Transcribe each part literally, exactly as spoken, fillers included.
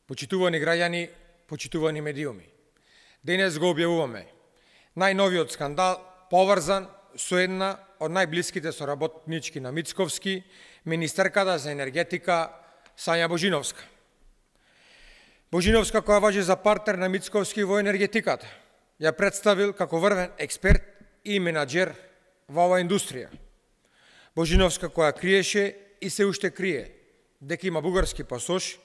Почитувани граѓани, почитувани медиуми. Денес го објавуваме најновиот скандал поврзан со една од најблиските соработнички на Мицковски, министерката за енергетика Сања Божиновска. Божиновска, која важи за партнер на Мицковски во енергетиката, ја представил како врвен експерт и менаџер во оваа индустрија. Божиновска, која криеше и се уште крие дека има бугарски пасош,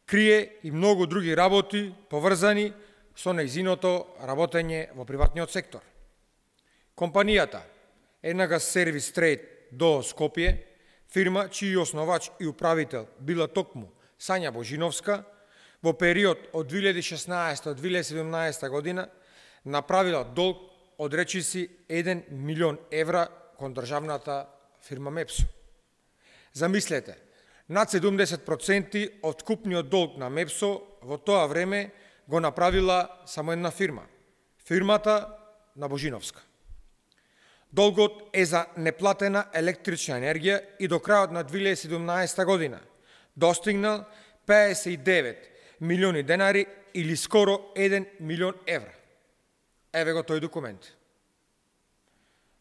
крие и многу други работи поврзани со нејзиното работење во приватниот сектор. Компанијата Енагаз Сервис Трейд до Скопје, фирма чиј основач и управител била токму Сања Божиновска, во период од две илјади и шеснаесета до две илјади и седумнаесета година направила долг од речиси еден милион евра кон државната фирма Мепсо. Замислете, над седумдесет проценти од купниот долг на Мепсо во тоа време го направила само една фирма, фирмата на Божиновска. Долгот е за неплатена електрична енергија и до крајот на две илјади и седумнаесета година достигнал пеесет и девет милиони денари или скоро еден милион евра. Еве го тој документ.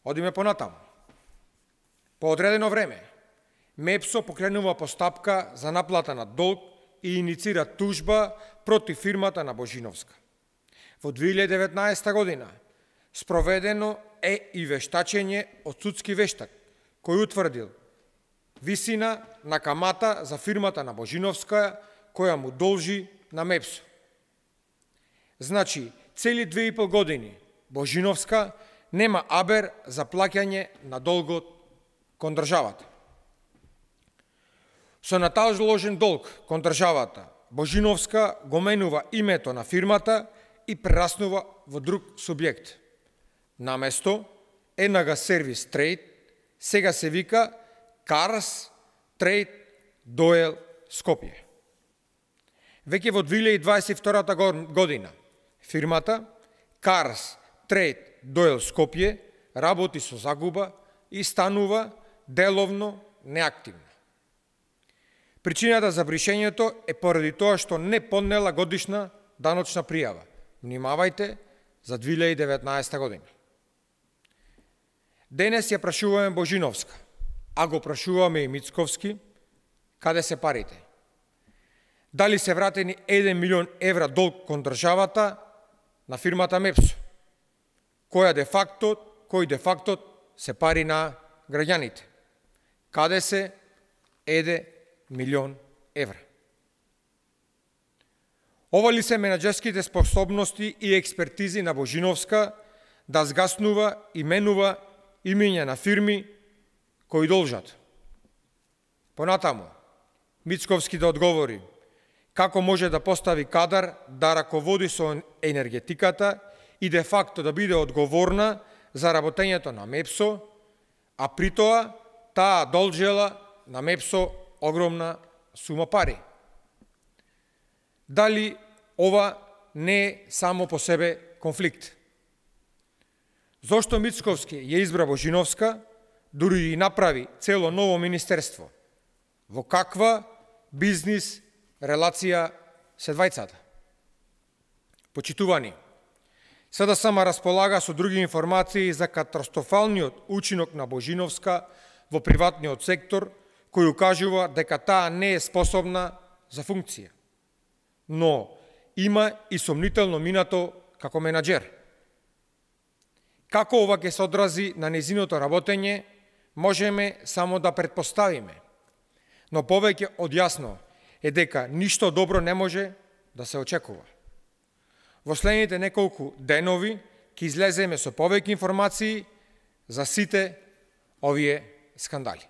Одиме понатаму. По одредено време, Мепсо покренува постапка за наплата на долг и иницира тужба против фирмата на Божиновска. Во две илјади и деветнаесета година спроведено е и вештачење од судски вештак, кој утврдил висина на камата за фирмата на Божиновска, која му должи на Мепсо. Значи, цели две и пол години Божиновска нема абер за плаќање на долгот кон државата. Со наталожен долг кон државата, Божиновска го менува името на фирмата и прераснува во друг субјект. Наместо Енагаз Сервис Трейд, сега се вика Карс Трейд Доел Скопје. Веќе во две илјади и дваесет и втора година фирмата Карс Трейд Доел Скопје работи со загуба и станува деловно неактивна. Причината за бришењето е поради тоа што не поднела годишна даночна пријава. Внимавајте за две илјади и деветнаесета година. Денес ја прашуваме Божиновска, а го прашуваме и Мицковски, каде се парите? Дали се вратени еден милион евра долг кон државата на фирмата Мепсо, која де факто, кој де факто се пари на граѓаните? Каде се еден милион евра? Ова ли се менаџерските способности и експертизи на Божиновска да згаснува и менува имиња на фирми кои должат? Понатаму, Мицковски да одговори како може да постави кадар да раководи со енергетиката и де факто да биде одговорна за работењето на Мепсо, а при тоа таа должела на Мепсо огромна сума пари. Дали ова не е само по себе конфликт? Зошто Мицковски ја избра Божиновска, дури и направи цело ново министерство? Во каква бизнис релација се двајцата? Почитувани, СДСМ располага со други информации за катастрофалниот учинок на Божиновска во приватниот сектор, кој укажува дека таа не е способна за функција, но има и сомнително минато како менаџер. Како ова ќе се одрази на нејзиното работење, можеме само да претпоставиме, но повеќе од јасно е дека ништо добро не може да се очекува. Во следните неколку денови ќе излеземе со повеќе информации за сите овие скандали.